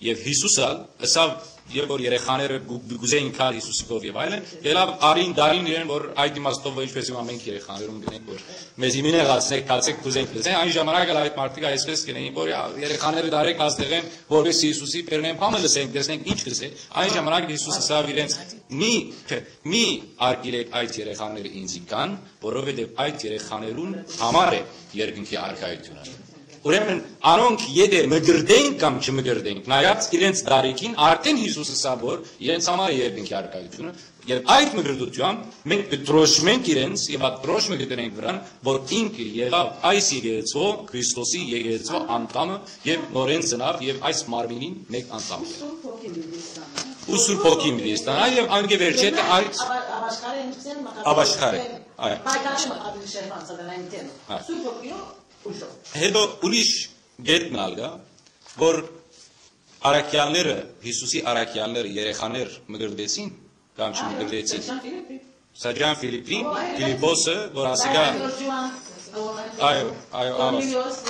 Եւ Յիսուս ալ ըսաւ, երբ որ երեխաները գու-, գուզեին գալ Յիսուսի քով եւ այլն, ելաւ արին, դարին իրեն, որ այդ իմաստով ինչպես հիմա մենք երեխաներուն գնենք, որ մեզի մի նեղացնեք, գացեք, կուզենք լսեն, այն ժամանակ ալ այդ մարդիկ այսպես կ'ընէին, որ ա, երեխաները դարեք, ազդեղեն, որպեսզի Յիսուսի բերնեն բանը լսենք, տեսնենք ինչ կ'ըսէ։ Այն ժամանակ Յիսուս ըսաւ իրենց. «Մի, մի արգիլեք այդ երեխաները ինձի կան, որովհետեւ այդ երեխաներուն համար է երկնքի առկայութիւնը»։ Ուրեմն անոնք եթէ մկրտենք կամ չմկրտենք, նայած իրենց դարիքին, արդեն Յիսուս ըսաւ, որ իրենց համար է երկնքի առկայութիւնը, եւ այդ մկրտութեամբ մենք կդրոշմենք իրենց եւ այդ դրոշմը կդնենք վրան, որ ինքը եղաւ այս եկեղեցւոյ, Քրիստոսի եկեղեցւոյ անդամը եւ նորէն ծնաւ եւ այս մարմինին մէկ անդամ է։ Ու Սուրբ Հոգին պիտի ստանայ եւ անկէ վերջի հետ այդ Աբաշխարը ինչ են մխիթարը։ Աբաշխարը, այո։ Պայքարի մխիթարը։ Հա։ Սուրբ Հոգիով ուժով։ Հետո ուրիշ կետ մը ալ կայ, որ առաքեալները, Յիսուսի առաքեալները երեխաներ մկրտեցին կամ չմկրտեցին։ Սա Ջան Ֆիլիպին, Ֆիլիպոսը, որ ասիկա, այո, այո, Աղաս,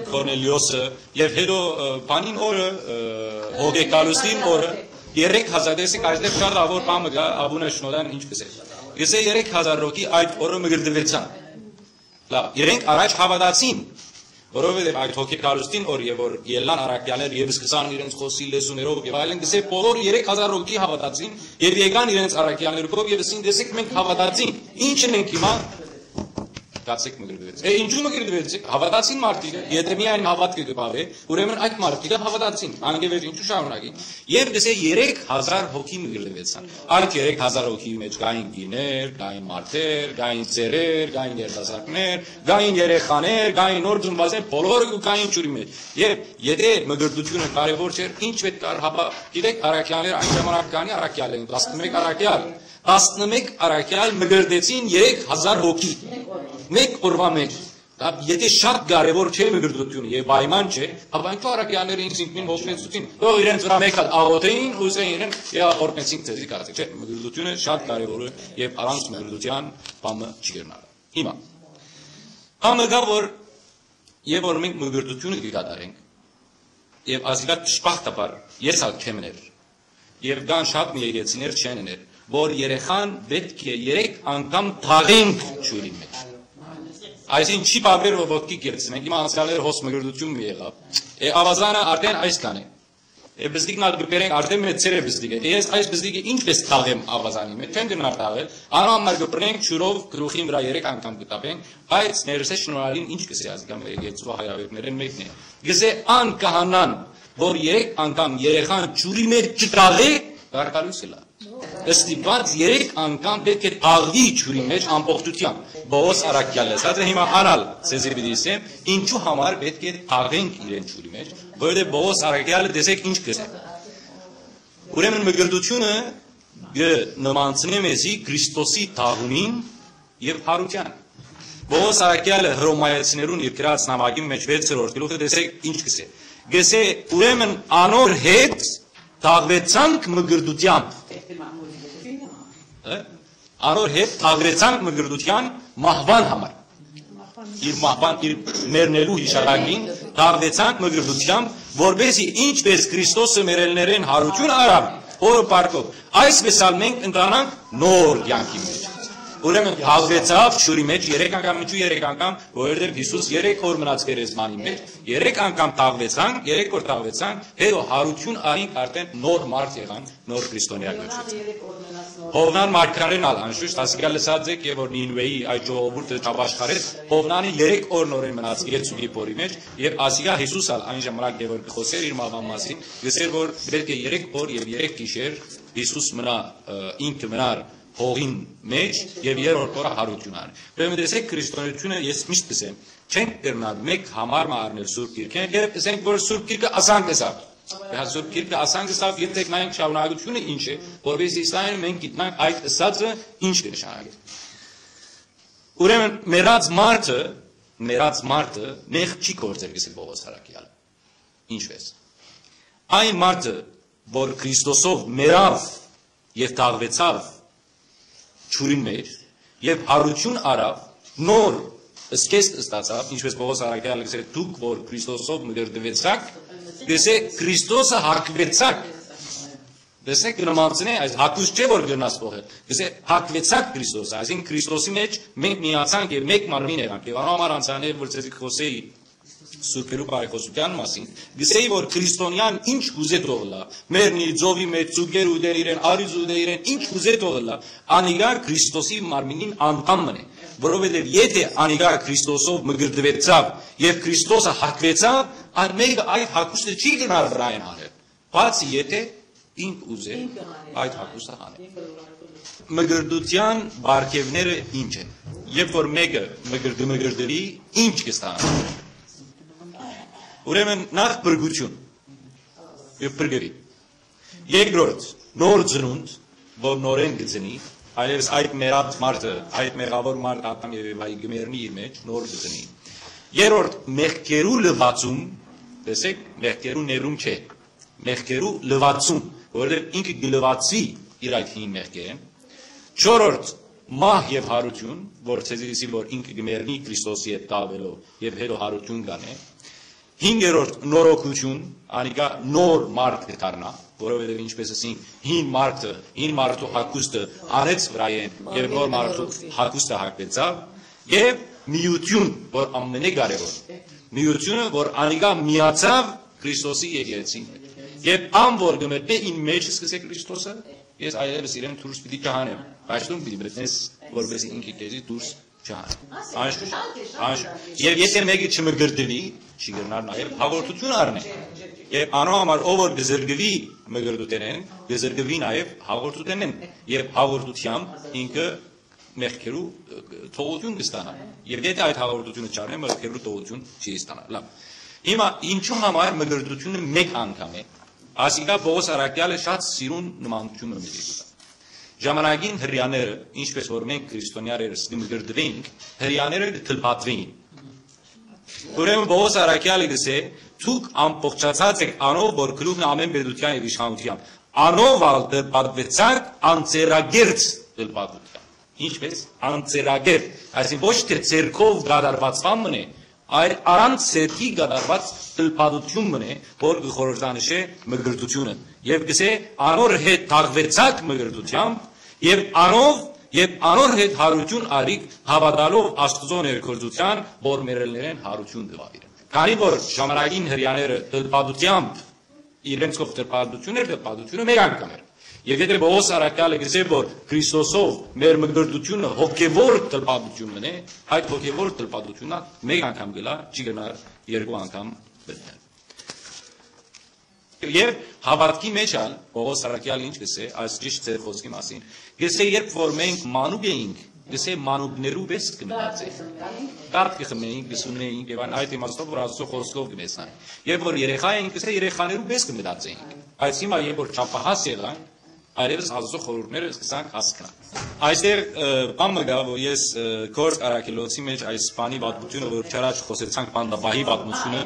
Կորնելիոսը, եւ հետո, ը, բանին օրը, ը, հոգեկալուստին օրը, երեք հազար, տեսեք, այստեղ շատ ավոր բան մը կայ, Աբունը Շնոդան ինչ կ'ըսէ։ Կ'ըսէ երեք հազար հոգի այդ օրը մկրտուեցան։ Լավ, իրենք առաջ հաւատացին, որովհետեւ այդ հոգեկալուստին օր, երբ որ ելլան առաքեալներ եւ սկսան իրենց խօսիլ լեզուներով եւ այլն, կ'ըսէ, բոլոր երեք հազար հոգի հաւատացին եւ եկան իրենց առաքեալներով եւ ըսին, «Տեսեք, մենք հաւատացինք, ի՞նչ ենք հիմա»։ Գացեք մկրտուեցեք։ Է, ինչու մկրտուեցեք։ Հաւատացին մարդիկը, եթէ միայն հաւատքը կը բաղէ, ուրեմն այդ մարդիկը հաւատացին, անկէ վեր ինչու շարունակին։ Եւ կ'ըսէ, երեք հազար հոգի մկրտուեցան։ Այդ երեք հազար հոգի մեջ կային կիներ, կային մարդեր, կային ծերեր, կային երիտասարդներ, կային երեխաներ, կային նոր ծնուածներ, բոլորը կու կային ջուրի մեջ։ Եւ եթէ մկրտությունը կարեւոր չէր, ինչ պետք ար, հապա, գիտեք, առաքյալներ այն ժամանակ կանի, առաքյալ են, տասնմեկ առաքյալ, տասնմեկ առաքյալ մկրտեցին երեք հազար հոգի, մէկ օրվա մեջ։ Դա եթե շատ կարեւոր չէ մկրտությունը եւ պայման չէ, հապա ինչու առաքյալները ինքզինքնին ողջունեցուցին, թող իրենց վրայ մէկ հատ աղոթեին ու ըսեն իրեն, «Եղա, օրհնեցինք ձեզի», կարծեք, չէ, մկրտությունը շատ կարեւոր է եւ առանց մկրտության բանը չի կրնար։ Հիմա, բանը կայ, որ երբ որ մենք մկրտությունը կը կատարենք, եւ ազգա դժբախտաբար ես ալ չեմ ներ, եւ կան շատ մի եկեղեցիներ չեն ներ, որ երեխան պետք է երեք անգամ թաղենք ջուրի մեջ։ Այսինքն չի բավեր, որ ոտքի կերցնենք, հիմա անցյալները հոս մկրտություն մի եղաւ։ Է, ավազանը արդեն այսքան է։ Է, բզդիկն ալ կը բերենք, արդեն մեծեր է բզդիկը։ Է, ես այս բզդիկը ինչպես թաղեմ ավազանի մեջ, չեմ կրնար թաղել, անոր համար կը բռնենք ջուրով գլուխին վրայ երեք անգամ կը տապենք, բայց ներսե շնորհալին ինչ կ'ըսէ ազգա մեր եկեղեցու հայրապետներէն մեկն է։ Կ'ըսէ, «Ան քահանան, որ երեք անգամ երեխան ջուրի մեջ չթաղէ, կարկալոյս ըլլայ»։ Ստիպված երեք անգամ պէտք է թաղուի ջուրի մեջ ամբողջությամբ։ Պողոս առաքյալն է, սա դե հիմա ան ալ ձեզի պիտի ասեմ, ինչու համար պէտք է թաղենք իրեն ջուրի մեջ, որովհետեւ Պողոս առաքյալը տեսեք ինչ կ'ըսէ։ Ուրեմն մկրտությունը կը նմանցնէ մեզի Քրիստոսի թաղումին եւ յարութեան։ Պողոս առաքեալը Հռոմայեցիներուն իր գրած նամակին մէջ վեցերորդ գլուխը, տեսեք ինչ կսէ։ Կսէ, ուրեմն անոր հետ թաղուեցանք մկրտութեամբ։ Հա՞։ Անոր հետ թաղուեցանք մկրտութեան մահուան համար։ Իր մահուան, իր մեռնելու յիշատակին թաղուեցանք մկրտութեամբ, որպեսզի ինչպես Քրիստոսը մեռելներէն յարութիւն առաւ, հօրը փառքով, այսպես ալ մենք ընտանանք նոր կեանքի մեջ։ Ուրեմն թաղուեցաւ ջուրի մեջ երեք անգամ, ինչու երեք անգամ, որովհետեւ Յիսուս երեք օր մնաց գերեզմանի մեջ, երեք անգամ թաղուեցանք, երեք օր թաղուեցանք, հետո յարութիւն առինք, արդեն նոր մարդ եղանք, նոր քրիստոնեայ կոչուց։ Հովնան մարգարեն ալ անշուշտ, ասիկա լսած եք, եւ որ Նինուէի այդ ժողովուրդը չապաշխարեց, Հովնանը երեք օր նորէն մնաց գերցուկի փորի մեջ, եւ ասիկա Յիսուս ալ այն ժամանակ, երբ որ կը խօսէր իր մահվան մասին, կսեր որ պետք է երեք օր եւ երեք գիշեր Յիսուս մնա, ը, ինքը մնար հողին մեջ եւ երրորդ օրը յարութիւն առ։ Ուրեմն տեսեք, քրիստոնեությունը, ես միշտ կսեմ, չենք կրնար մեկ համար մը առնել Սուրբ Գիրքէն, երբ կսենք, որ Սուրբ Գիրքը ասանք ըսաւ։ Հա, Սուրբ Գիրքը ասանք ըսաւ, գիտեք, նայենք շարունակությունը ինչ է, որպեսզի Իսրայէլը մենք գիտնանք այդ ըսածը ինչ կը նշանակի։ Ուրեմն մեռած մարդը, մեռած մարդը մեղք չի գործեր, կսել Պողոս առաքեալը։ Ինչպես։ Այն մարդը, որ Քրիստոսով մեռաւ եւ թաղուեցաւ ջուրին մեջ, եւ յարութիւն առաւ, նոր սկիզբ ստացաւ, ինչպես Պողոս առաքեալը կսեր, դուք որ Քրիստոսով մկրտուեցաք, կսե Քրիստոսը հագուեցաք։ Տեսեք, կը նմանցնէ, այս հագուստ չէ որ կրնաս պոկել։ Կսե հագուեցաք Քրիստոսը, այսինքն Քրիստոսի մեջ մենք միացանք եւ մեկ մարմին եղանք։ Եւ անոր համար անցանել որ ցեզի կխօսեի Սուրբերու բարեխօսութեան մասին, կսեի որ քրիստոնեան ինչ կուզէ թող ըլլայ, մեռնի, ծովի մեջ, ծուկեր ուտեն իրեն, արիծ ուտեն իրեն, ինչ կուզէ թող ըլլայ, անիկա Քրիստոսի մարմինին անդամ մըն է, որովհետեւ եթէ անիկա Քրիստոսով մկրտուեցաւ եւ Քրիստոսը հագուեցաւ, ան մեկը այդ հագուստը չի գնար վրայեն անել, բացի եթէ ինք ուզէ այդ հագուստը հանել։ Մկրտութեան պարգեւները ինչ են։ Երբ որ մեկը մկրտ-, մկրտուի, ինչ կստանա։ Ուրեմն նախ փրկութիւն։ Եւ փրկուի։ Երկրորդ, նոր ծնունդ, որ նորէն կծնի, այլեւս այդ մեռած մարդը, այդ մեղաւոր մարդը Ադամ եւ Եվայի կմեռնի իր մեջ, նոր կծնի։ Երրորդ, մեղքերու լուացում, տեսեք, մեղքերու ներում չէ, մեղքերու լուացում, որովհետեւ ինքը կլուացի իր այդ հին մեղքերէն։ Չորրորդ, մահ եւ յարութիւն, որ ցեզի լսի, որ ինքը կմեռնի Քրիստոսի հետ տաղվելով եւ հետո յարութիւն կանէ։ Հինգերորդ, նորոգութիւն, անիկա նոր մարդ կդառնայ, որովհետեւ ինչպես ասինք, հին մարդը, հին մարդու հագուստը անեց վրայէն եւ նոր մարդու հագուստը հագեցաւ, եւ միութիւն, որ ամենակարեւոր, միութիւնը, որ անիկա միացաւ Քրիստոսի եկեղեցին։ Եւ ան որ կմտնէ իմ մեջ, սկսե Քրիստոսը, ես այլեւս իրեն դուրս պիտի չհանեմ, բայց դուն պիտի մտնես, որպեսզի ինքը քեզի դուրս չհանէ։ Անշուշտ, անշուշտ։ Եւ եթէ մեկը չմկրտուի, չի կրնար նաեւ հաղորդութիւն առնի։ Եւ անոր համար ով որ կզրկուի մկրտութենէն, կզրկուի նաեւ հաղորդութենէն։ Եւ հաղորդութեամբ ինքը մեղքերու, ը, թողութիւն կստանայ։ Եւ եթէ այդ հաղորդութիւնը չառնէ, մեղքերու թողութիւն չի ստանար։ Լավ։ Հիմա ինչու համար մկրտութիւնը մեկ անգամ է։ Ասիկա Պողոս առաքեալը շատ սիրուն նմանութիւն մը մտիկ կտայ։ Ժամանակին հրեաները, ինչպես որ մենք քրիստոնեաներս կմկրտվենք, հրեաները կթլփատվեին։ Ուրեմն Պողոս առաքեալը կսէ. «Դուք ամբողջացած եք անով, որ գլուխն է ամեն պետութեան եւ իշխանութեան։ Անով ալ թլփատվեցաք անձեռագերծ թլփատութեան»։ Ինչպես անձեռագերծ, այսինքն ոչ թե ձեռքով կատարվածվան մնե, այլ առանց ձեռքի կատարված թլփատութիւն մնե, որ կը խորհրդանշէ մկրտութիւնը։ Եւ կսէ. «Անոր հետ թաղուեցաք մկրտութեամբ, եւ անով, եւ անոր հետ յարութիւն առիք, հաւատալով Աստուծոյ ներգործութեան, որ մեռելներէն յարութիւն տուաւ իրեն»։ Քանի որ ժամանակին հրեաները թլփատութեամբ իրենց կողք թլփատութիւն էր, թլփատութիւնը մեկ անգամ էր։ Եւ եթէ Պողոս առաքյալը կսէ, որ Քրիստոսով մեր մկրտութիւնը հոգեվոր թլփատութիւն մնե, այդ հոգեվոր թլփատութիւնը մեկ անգամ գլա, չի գնար երկու անգամ մտնել։ Եւ հաւատքի մեջ ալ Պողոս առաքյալը ինչ կսէ, այս ճիշտ ձեր խօսքի մասին, կսէ, երբ որ մենք մանուկ էինք, կսէ, մանուկներու վես կմնաց էինք, կաթ կխմեինք, կսունեինք, եւ այն այդ իմաստով, որ Աստծո խօսքով կմեսնանք։ Երբ որ երեխա էինք, կսէ, երեխաներու վես կմնաց էինք։ Բայց հիմա, երբ որ չափահաս եղանք, Այլեւս Աստուծոյ խորհուրդները սկսանք հասկնալ։ Այստեղ, ը, բան մը կայ, որ ես, ը, Գործք Առաքելոցի մէջ այս բանի պատմութիւնը, որ չարաջ խօսեցանք, բանտապահի պատմութիւնը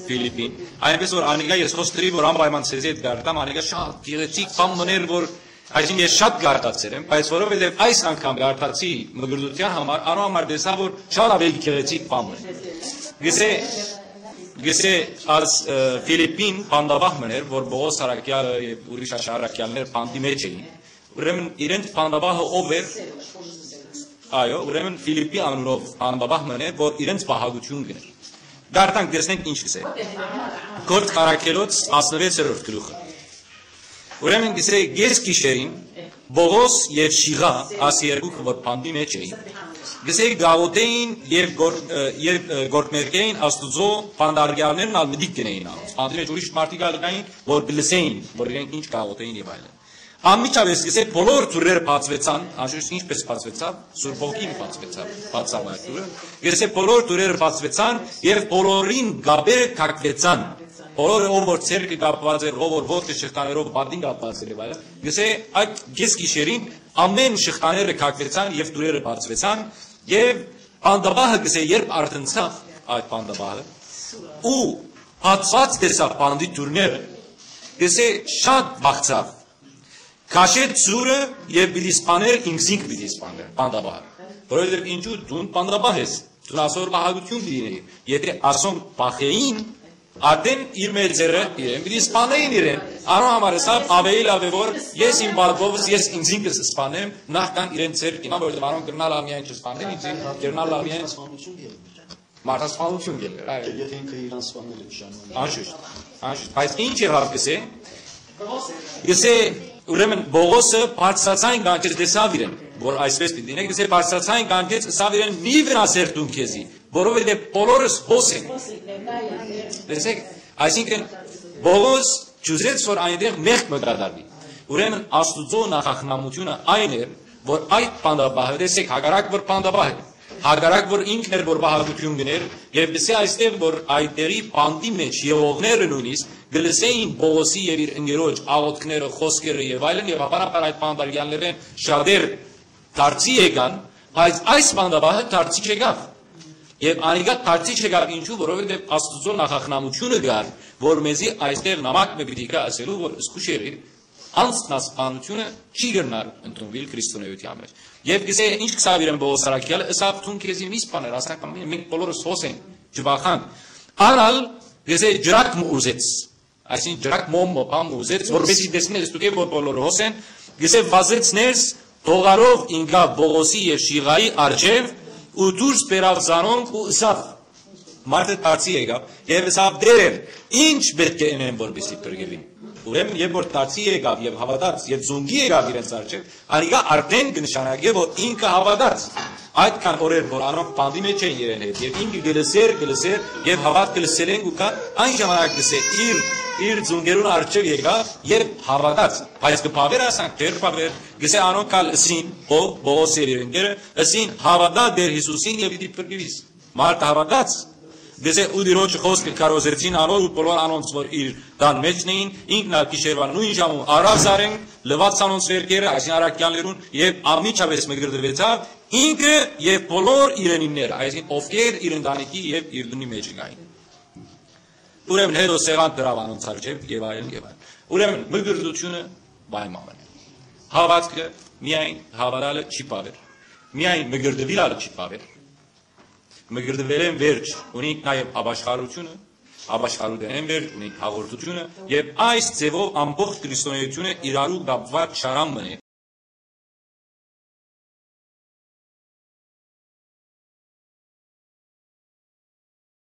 Ֆիլիպին, այնպես որ անիկա ես խօստրի, որ անպայման ցեզի հետ կարտամ, անիկա շատ գեղեցիկ բան մներ, որ այսինքն ես շատ կարտացեր եմ, բայց որովհետեւ այս անգամ կարտացի մկրտության համար, անոր համար տեսայ, որ շատ աւելի գեղեցիկ բան մներ։ Գսե, գսե, այս, ը, Ֆիլիպին բանտապահ մներ, որ Պողոս Առաքյալը եւ ուրիշ աշ առաքյալներ բանտի մէջ էին։ Ուրեմն իրենց բանտապահը ով էր։ Այո, ուրեմն Ֆիլիպի անունով բանտապահ մներ, որ իրենց պահակութիւն կներ։ Կարդանք, տեսնենք ինչ կսե։ Գործք Առաքելոց տասնվեցերորդ գլուխը։ Ուրեմն գսե, կես գիշերին Պողոս եւ Շիղա, աս երկուքը որ բանտի մէջ էին, գսե, գաղութ էին եւ գոր-, ը, եւ, ը, գործմերկեին Աստուծոյ բանտարկեալներն ալ մտիկ կենային անոնց։ Բանտի մէջ ուրիշ մարդիկ ալ կային, որ կլսեին, որ իրենք ինչ գաղութ էին եւ այլն։ Անմիջապէս գսե, բոլոր դուռերը բացուեցան, անշուշտ ինչպես բացուեցաւ, Սուրբ Հոգին բացուեցաւ, բացաւ այդ դուռը։ Գսե, բոլոր դուռերը բացուեցան եւ բոլորին կապերը կակուեցան։ Բոլորը, ով որ ձեռքը կապուած էր, ով որ ոտքը շղթաներով, պատին կապուած էր եւ այլն։ Գսե, այդ կես գիշերին ամէն շղթաները կակուեցան եւ դուռերը բացուեցան եւ բանտապահը գսե, երբ արթնցաւ այդ բանտապահը ու բացուած տեսաւ բանտի դուռները, գսե, շատ վախցաւ, քաշեց սուրը եւ պիտի սպաներ, ինքզինք պիտի սպաներ, բանտապահը։ Որովհետեւ ինչու դուն բանտապահ ես, դուն ասոր պահակութիւն պիտի լինէիր։ Եթե ասոնք պահէին, արդեն իր մեծերը իրեն պիտի սպանեին իրեն։ Անոր համար ըսաւ, աւելի լաւ է որ ես իմ պատվովս, ես ինքզինքս սպանեմ, նախքան իրեն ձեռք դնեմ, որովհետեւ անոնք կրնան ալ միայն չսպանեն ինքզինք, կրնան ալ միայն մարդասպանութիւն կերներ, այո։ Եթե ինքը իրան սպանել է ժամանակ։ Անշուշտ, անշուշտ։ Բայց ինչ եղաւ գսե։ Գսե, ուրեմն Պողոսը բարձրացայն կանչեց, տեսաւ իրեն, որ այսպես պիտի լինի, գսե, բարձրացայն կանչեց, ըսաւ իրեն, «Մի վնասեր դուն քեզի, որովհետեւ բոլորս հոս են»։ Տեսեք, այսինքն Պողոս չուզեց, որ այնտեղ մեղք մը կատարուի։ Ուրեմն Աստուծոյ նախախնամութիւնը այն էր, որ այդ բանտապահը, տեսեք, հակառակ որ բանտապահ էր, հակառակ որ ինքն էր, որ պահակութիւն գներ, եւ գսե այստեղ, որ այդ տեղի բանտի մէջ եղողները նոյնիսկ կը լսէին Պողոսի եւ իր ընկերոջ աղօթքները, խօսքերը եւ այլն, եւ ապարաբար այդ բանտարկեալներէն շատեր դարձի եկան, բայց այս բանտապահը դարձի չեկաւ։ Եւ անիկա դարձի չեկաւ, ինչու, որովհետեւ Աստուծոյ նախախնամութիւնը կար, որ մեզի այստեղ նամակ մը պիտի գայ ասելու, որ զգուշ եղիր, անձնասպանութիւնը չի կրնար ընդունուիլ քրիստոնէութեան մէջ։ Եւ գսե, ինչ կսաւ իրեն Պողոս առաքեալը, ըսաւ, «Դուն քեզի մի սպաներ, ասանք ամեն, մենք բոլորս հոս ենք, չվախանք»։ Ան ալ, գսե, ջրակ մը ուզեց, այսինքն ջրակ մոմ մը բան մը ուզեց, որպեսզի տեսնես դուք, որ բոլորը հոս են, գսե, վազեց ներս, թողարով ինկաւ Պողոսի եւ Շիղայի առջեւ ու դուրս բերաւ զանոնք ու ըսաւ, մարդը դարձի եկաւ եւ ըսաւ, «Տէր, ինչ պէտք է ընեմ, որպեսզի փրկուիմ»։ Ուրեմն, երբ որ դարձի եկաւ եւ հաւատաց եւ զունգի եկաւ իրենց առջեւ, անիկա արդեն կը նշանակէ, որ ինքը հաւատաց։ Այդքան օրեր, որ անոնք բանտի մէջ էին իրեն հետ, եւ ինքը կը լսէր, կը լսէր, եւ հաւատքը լսելէն կու գար, այն ժամանակ գսե, իր, իր զունգերուն առջեւ եկաւ եւ հաւատաց։ Բայց կը բաւեր ասանք, դեռ բաւեր, գսե անոնք ալ ըսին, ով, Պողոս եւ իր ընկերը, ըսին, «Հաւատա Տէր Յիսուսին եւ պիտի փրկուիս»։ Մարդը հաւատաց, գսե, ու Տիրոջը խօսքը քարոզեցին անոր ու բոլոր անոնց, որ իր տան մէջն էին, ինքն ալ գիշերուան նոյն ժամուն առաւ զարեն, լուաց անոնց վերքերը, այսինքն առաքեալներուն, եւ անմիջապէս մկրտուեցաւ, ինքը եւ բոլոր իրենինները, այսինքն ովքեր իր ընտանիքի եւ իր տունի մէջ կային։ Ուրեմն հետո սեղան դրաւ անոնց առջեւ եւ այլն եւ այլն։ Ուրեմն մկրտութիւնը պայման է։ Հաւատքը միայն հաւատալը չի բաւեր, միայն մկրտուիլ ալը չի բաւեր։ Մկրտուելէն վերջ ունինք նաեւ ապաշխարութիւնը, ապաշխարութենէն վերջ ունինք հաղորդութիւնը, եւ այս ձեւով ամբողջ քրիստոնէութիւնը իրարու կապուած շարան մը է,